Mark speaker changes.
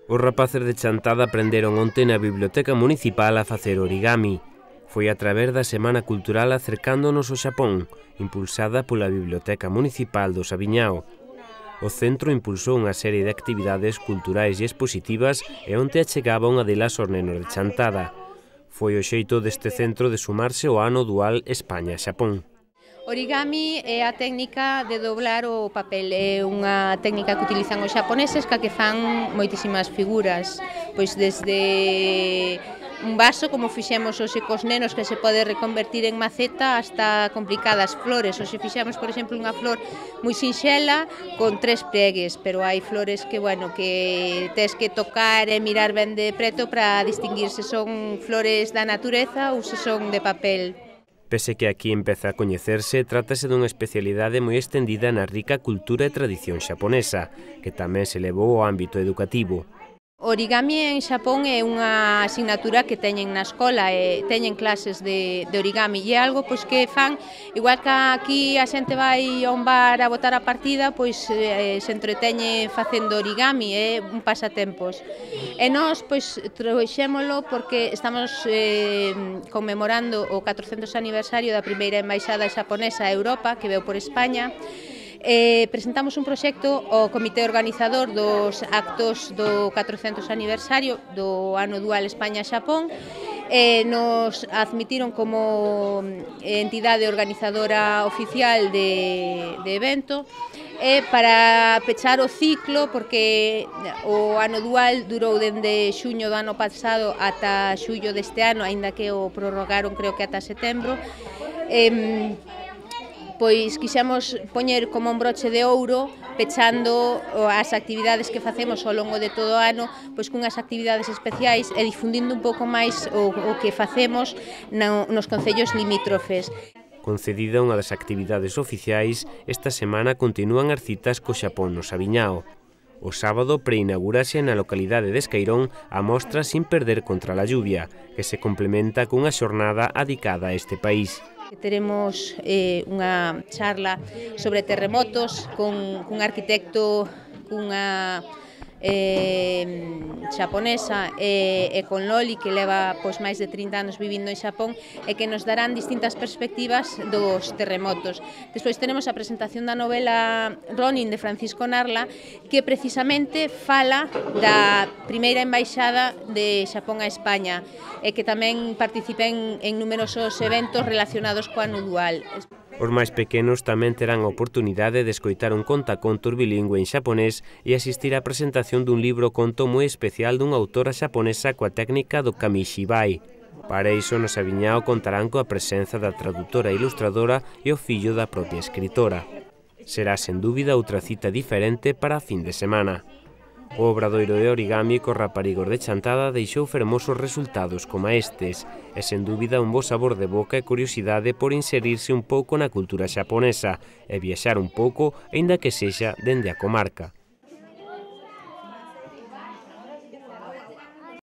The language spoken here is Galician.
Speaker 1: Os rapaces de Chantada aprenderon onte na Biblioteca Municipal a facer origami. Foi a través da Semana Cultural Acercándonos ao Xapón, impulsada pola Biblioteca Municipal do Sabiñao. O centro impulsou unha serie de actividades culturais e expositivas e onte achegaba unha delas aos nenos de Chantada. Foi o xeito deste centro de sumarse ao ano dual España-Xapón.
Speaker 2: Origami é a técnica de doblar o papel, é unha técnica que utilizan os xaponeses que fan moitísimas figuras, pois desde un vaso, como fixemos hoxe cos nenos, que se pode reconvertir en maceta, hasta complicadas flores. Hoxe fixemos, por exemplo, unha flor moi sinxela con 3 plegues, pero hai flores que, bueno, que tes que tocar e mirar ben de preto para distinguir se son flores da natureza ou se son de papel.
Speaker 1: Pese que aquí empeza a coñecerse, trátase dunha especialidade moi extendida na rica cultura e tradición xaponesa, que tamén se levou ao ámbito educativo.
Speaker 2: Origami en Xapón é unha asignatura que teñen na escola, teñen clases de origami e é algo pois que fan, igual que aquí a xente vai a un bar a botar a partida, pois se entreteñe facendo origami, é un pasatempos. E nós pois trouxémolo porque estamos conmemorando o 400 aniversario da primeira embaixada xaponesa a Europa, que veu por España. Presentamos un proxecto ao comité organizador dos actos do 400 aniversario do ano dual España-Xapón e nos admitiron como entidade organizadora oficial de evento para pechar o ciclo, porque o ano dual durou dende xuño do ano pasado ata xullo deste ano, aínda que o prorrogaron creo que ata setembro. Pois quixemos poñer como un broche de ouro pechando as actividades que facemos ao longo de todo o ano, pois cunhas actividades especiais e difundindo un pouco máis o que facemos nos concellos limítrofes.
Speaker 1: Concedida unha das actividades oficiais, esta semana continúan as citas co Xapón no Sabiñao. O sábado preinaugurase na localidade de Escairón a mostra Sin perder contra la lluvia, que se complementa cunha xornada adicada a este país.
Speaker 2: Teremos unha charla sobre terremotos cun arquitecto, cunha xaponesa e con Loli, que leva pois máis de 30 anos vivindo en Xapón e que nos darán distintas perspectivas dos terremotos. Despois tenemos a presentación da novela Ronin de Francisco Narla, que precisamente fala da primeira embaixada de Xapón a España e que tamén participen en numerosos eventos relacionados co ano dual.
Speaker 1: Os máis pequenos tamén terán a oportunidade de escoitar un contacontos bilingüe en xaponés e asistir á presentación dun libro conto moi especial dunha autora xaponesa coa técnica do kamishibai. Para iso, no Sabiñao contarán coa presenza da tradutora e ilustradora e o fillo da propia escritora. Será, sen dúbida, outra cita diferente para a fin de semana. O obradoiro de origami cos raparigos de Chantada deixou fermosos resultados como estes e, sen dúbida, un bo sabor de boca e curiosidade por inserirse un pouco na cultura xaponesa e viaxar un pouco, aínda que sexa dende a comarca.